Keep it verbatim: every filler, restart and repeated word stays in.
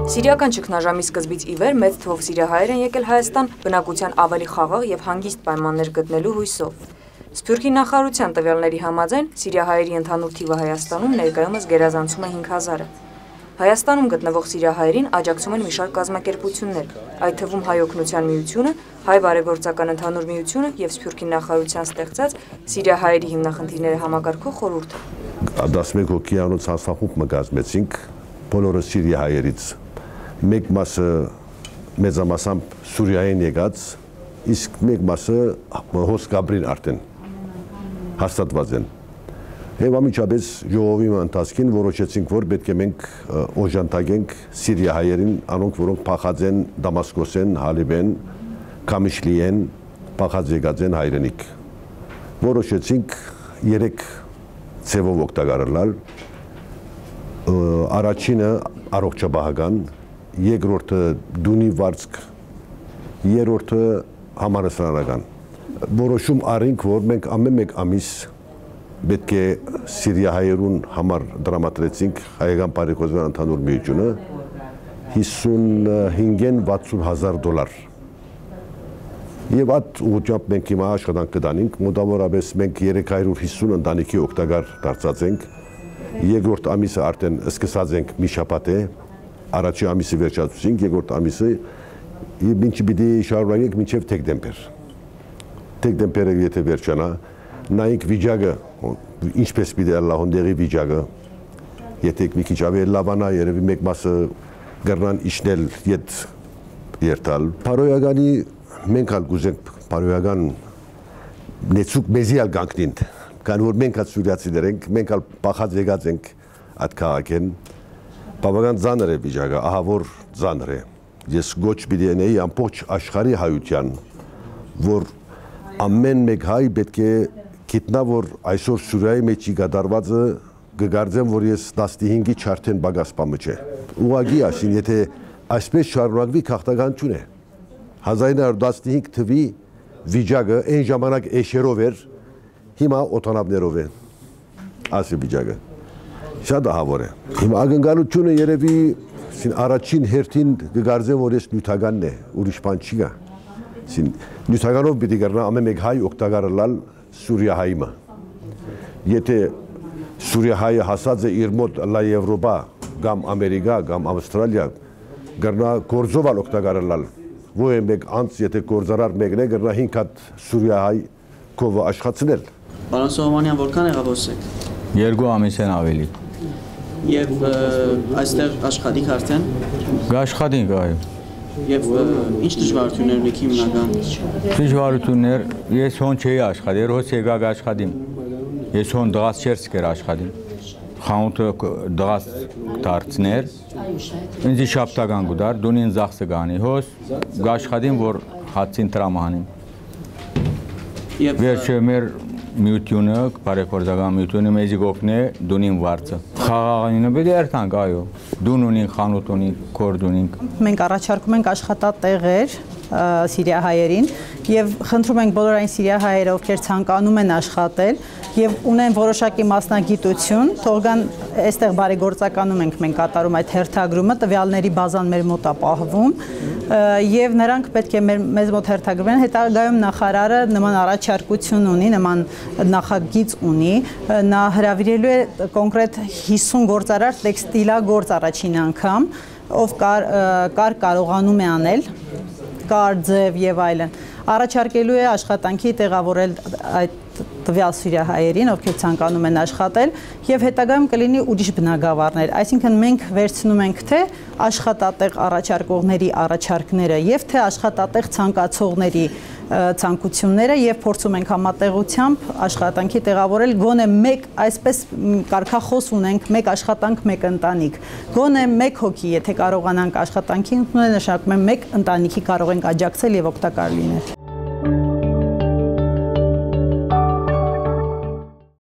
Սիրիական ճգնաժամի սկզբից ի վեր մեծ թվով սիրիահայեր են եկել Հայաստան բնակության ավելի խաղաղ եւ հանգիստ պայմաններ գտնելու հույսով։ Սփյուռքի նախարարության տվյալների համաձայն սիրիահայերի ընդհանուր թիվը Հայաստանում ներկայումս գերազանցում է հինգ հազարը։ Հայաստանում գտնվող սիրիահայերին աջակցում են մի շարք կազմակերպություններ, այդ թվում Հայ օգնության միությունը, Հայ բարեգործական ընդհանուր միությունը եւ Սփյուռքի նախարարության ստեղծած սիրիահայերի հիմնախնդիրները համակարգող խորհուրդը։ տասնմեկ հոգեանոց հանձնախումբ մգազմեցինք բոլորը սիրիահայերից։ Մեկ մասը մեծամասամբ Սուրիայեն եկած, իսկ մեկ մասը հոսքաբրին արդեն հաստատված են։ Եվ ամիջապես ժողովի ընթացքին որոշեցինք, որ պետք է մենք օժանդակենք սիրիահայերին, անոնք որոնք փախած են Դամասկոսեն, Հալիբեն, Քամիշլիեն, փախած եկած են հայրենիք։ Որոշեցինք երեք ձևով օգտագործել։ Առաջինը առողջապահական, երկրորդը դունի վարձք, երրորդը համալսարանական։ Որոշում առինք, որ մենք ամեն մեկ ամիս պետք է սիրիահայերուն համար դրամատրեցինք հայկական բարեգործական ընդհանուր միությունը հիսունհինգ վաթսուն հազար դոլար։ Եվ այդ ուղղությամբ մենք հիմա աշխատանք կդանենք, մոտավորապես մենք երեք հարյուր հիսուն ընտանիքի օգտակար դարձած ենք։ Երկրորդ ամիսը արդեն սկսած ենք մի շաբաթ է, առաջի ամիսը վերջացուցինք, երկրորդ ամիսը ինչի պիտի շարունակենք մինչև դեկտեմբեր։ Դեկտեմբերը եթե վերջանա, նայենք վիճակը, ինչպես պիտի լահոնդերի վիճակը, եթե մի քիչ ավելի լավանա, երևի մեկ մասը կգրնան իջնել ետ երթալ։ Փարոյականի մենք ալ գուզենք փարոյական նեցուկ մեզի ալ գանքնին, քան որ մենք ալ սուրիացիներ ենք, մենք ալ փախած եկած ենք այդ քաղաքեն, բավական ծանր է վիճակը, ահա որ ծանր է։ Ես գոչ պիտի ունեի ամբողջ աշխարհի հայության, որ ամեն մեկ հայ պետք է գիտնա, որ այսօր Սուրիայի մեջ կատարվածը կգարձեմ, որ ես տասնհինգի չարթեն բագասպամը չէ։ Ուղղակի ասին, եթե այսպես շարունակվի քաղաքականություն է։ հազար ինը հարյուր տասնհինգ թվի վիճակը այն ժամանակ էշերով էր, հիմա օտանավներով է։ Ասի վիճակը։ Շատ ահավոր է։ Հիմա ակնկալությունը երևի առաջին հերթին կգարձեմ, որ ես նյութականն է, ուրիշ բան չի գա։ Նյութականով պիտի կրնա ամեն մեկ հայ օգտագործել Սուրիահայը։ Եթե Սուրիահայը հասած է իր մոտ լա Եվրոպա, կամ Ամերիկա, կամ Ավստրալիա, կրնա գործով օգտագործել։ Ոչ մեկ անց, եթե գործարար մեկն է, կրնա հինգ հատ Սուրիահայ կովը աշխատել։ Պարոն Սողոմոնյան, որքան եղավոսեք։ Երկու ամիս են ավելի։ Եվ այստեղ աշխատիք արդեն։ Աշխատենք, այո։ Եվ ինչ դժվարություններ ունեք հիմնական։ Դժվարություններ, ես հոն չէի աշխատել, հոս եկակ աշխատիմ։ Ես հոն դղած չերս կեր աշխատիմ։ Խանութը դղած դարձներ։ Ինձ շաբթական գուդար, դունին զախսը գանի, հոս աշխատիմ, որ հացին տրամանիմ։ Վերջը մեր միությունը, բարեգործական միությունը մեզի գոքն է դունին վարձը։ Խաղաղինը պետք է երթանք, այո։ Դուն ունենք, խանութ ունենք, կորդ ունենք։ Մենք առաջարկում ենք աշխատատեղեր սիրիահայերին եւ խնդրում ենք բոլոր այն սիրիահայերը, ովքեր ցանկանում են աշխատել եւ ունեն որոշակի մասնագիտություն, թող գան այստեղ բարեգործականում ենք մենք կատարում այդ հերթագրումը, տվյալների բազան մեր մոտ է պահվում եւ նրանք պետք է մեզ մոտ հերթագրվեն, հետագայում նախարարը նման առաջարկություն ունի, նման նախագիծ ունի, նա հրավիրելու է կոնկրետ հիսուն գործարար տեքստիլագործ առաջին անգամ, ով կար, կար կարողանում է անել, կար ձև եւ այլն, առաջարկելու է աշխատանքի տեղավորել այդ տվյալ սիրիահայերին, ովքեր ցանկանում են աշխատել եւ հետագայում կլինի ուրիշ բնակավարներ, այսինքն մենք վերցնում ենք թե աշխատատեղ առաջարկողների առաջարկները եւ թե աշխատատեղ ցանկացողների ցանկությունները եւ փորձում ենք համատեղությամբ աշխատանքի տեղավորել գոնե մեկ այսպես կարգախոս ունենք մեկ աշխատանք մեկ ընտանիք գոնե մեկ հոգի եթե կարողանանք աշխատանքի ընդունել նշանակում է մեկ ընտանիքի կարող ենք աջակցել եւ օգտակար լինել